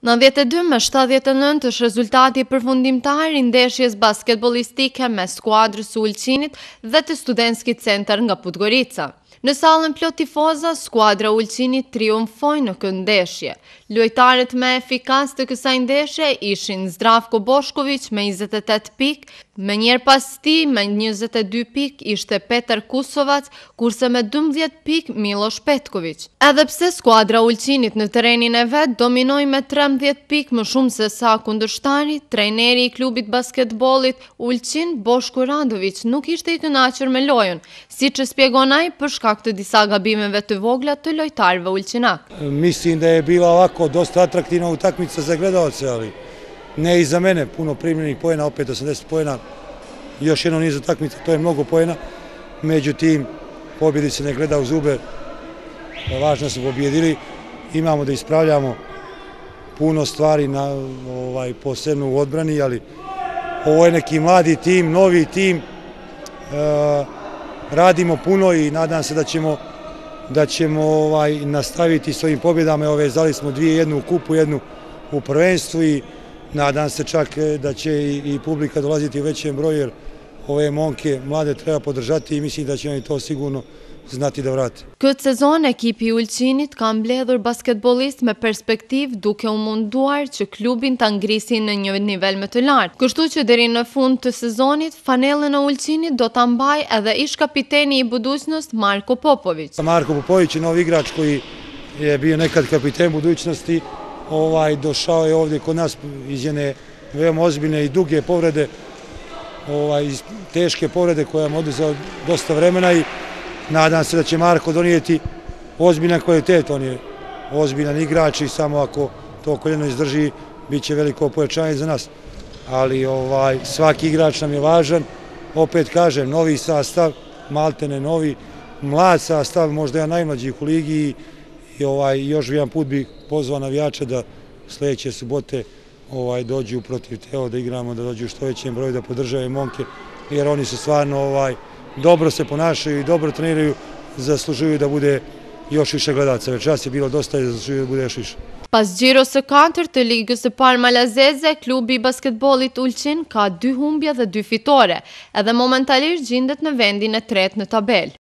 92-79 është rezultati përfundimtar i ndeshjes basketbolistike me skuadrës së Ulqinit dhe të Studentski Centar nga Podgorica. Në sallën plot tifoza, skuadra Ulqinit triumfoi në këtë ndeshje. Lojtarët më efikas të kësaj ndeshje ishin Zdravko Bošković me 28 pikë, më njëherë pas tij me 22 pikë ishte Petar Kusovac, kurse me 12 pikë Miloš Petković. Edhe pse skuadra Ulqinit në terrenin e vet dominoi me 13 pikë më shumë se sa kundërshtari, trajneri i klubit basketbollit Ulqin, Boško Radović, nuk ishte i kënaqur me lojën, siç e shpjegon ai për shkak të disa gabimeve të vogla të lojtarëve ulqinak. Mislim da je bila ovako dosta atraktivna utakmica za gledaoce, ali ne i za mene. Puno primljenih poena, opet 80 poena, još jedno niz utakmica, to je mnogo poena. Međutim, pobjedi se ne gleda u zube, važno su pobjedili. Imamo da ispravljamo puno stvari, posebno u odbrani, ali ovo je neki mladi tim, novi tim. Radimo puno i nadam se da ćemo nastaviti s ovim pobjedama. Vezali smo jednu u kupu, jednu u prvenstvu i nadam se čak da će i publika dolaziti u većem broju, jer ove momke mlade treba podržati i mislim da će oni to sigurno znati da vrate. Këtë sezon ekipi i Ulqinit ka mbledhur basketbolist me perspektiv duke u munduar që klubin ta ngrisin në një nivel më të lartë. Kështu që deri në fund të sezonit fanellën e Ulqinit do ta mbajë edhe ish kapiteni i budućnosti Marko Popović. Marko Popović je novi igrač koji je bio nekad kapiten budućnosti, došao je ovdje kod nas iz jedne veoma ozbiljne i duge povrede, teške povrede koja mu oduzela dosta vremena i nadam se da će Marko donijeti ozbiljan kvalitet. On je ozbiljan igrač i samo ako to koljeno izdrži, bit će veliko pojačanje za nas. Ali svaki igrač nam je važan. Opet kažem, novi sastav, maltene novi, mlad sastav, možda jedan najmlađih u ligi i još jedan put bih pozvao navijače da sljedeće subote dođu protiv Teo, da igramo, da dođu u što većem broju, da podržavaju momke, jer oni su stvarno dobro se ponašaju i dobro treniraju, zaslužuju da bude još više gledaca. Večeras je bilo dosta i zaslužuju da bude još više. Pas gjiros së 4 të ligës së parë malazeze, klubi i basketbollit Ulqin ka 2 humbje dhe 2 fitore, edhe momentalisht gjendet në vendin e 3 në tabelë.